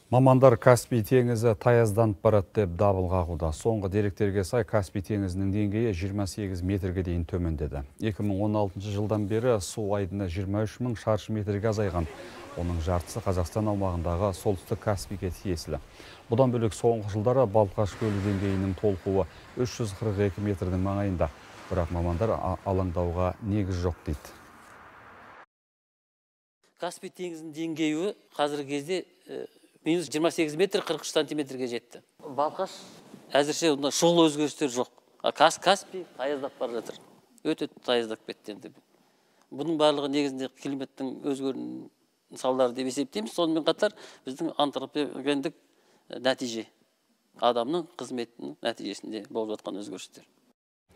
Мамандар Каспий теңізі таязданып барады деп дабыл қағуда. Соңғы деректерге сай Каспий теңізінің деңгейі 28 метрге дейін төмендеді. 2016 жылдан бері су айдыны 23 мың шаршы метрге азайған. Оның жартысы Қазақстан аумағындағы солтүстік Каспийге тиесілі. Бұдан бөлек соңғы жылдары Балқаш көлі деңгейінің толқуы 342 метрдің маңайында. Бірақ мамандар алаңдауға негіз жоқ дейді. Каспий теңізінің деңгейі қазіргі кезде минус 28 метр 43 сантиметрге жетті. Балқаш әзірше онда шұғыл өзгерістер жоқ. Каспий таяздап бара жатыр. Өте таяздап кетті енді. Бұның барлығы негізінде климаттың өзгерісінің салдары деп есептейміз. Сонымен қатар біздің антропогендік нәтиже, адамның қызметінің нәтижесінде болып жатқан өзгерістер.